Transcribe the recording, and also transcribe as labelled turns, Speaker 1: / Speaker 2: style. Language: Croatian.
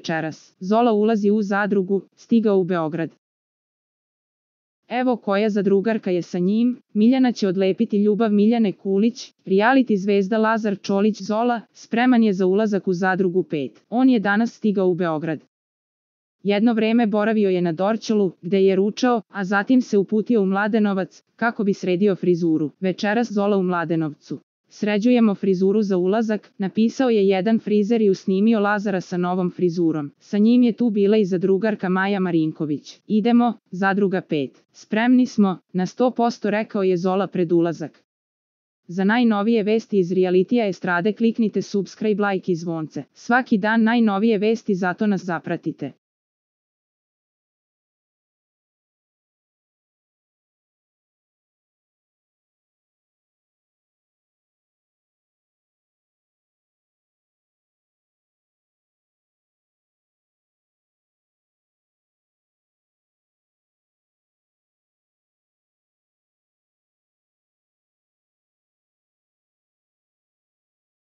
Speaker 1: večeras. Zola ulazi u zadrugu, stigao u Beograd. Evo koja zadrugarka je sa njim, Miljana će odlepiti ljubav Miljane Kulić, reality zvezda Lazar Čolić Zola, spreman je za ulazak u zadrugu 5. On je danas stigao u Beograd. Jedno vreme boravio je na Dorćolu, gde je ručao, a zatim se uputio u Mladenovac, kako bi sredio frizuru. Večeras Zola u Mladenovcu. Sređujemo frizuru za ulazak, napisao je jedan frizer i usnimio Lazara sa novom frizurom. Sa njim je tu bila i zadrugarka Maja Marinković. Idemo, zadruga 5. Spremni smo, na 100% rekao je Zola pred ulazak. Za najnovije vesti iz realitija estrade kliknite subscribe, like i zvonce. Svaki dan najnovije vesti, zato nas zapratite.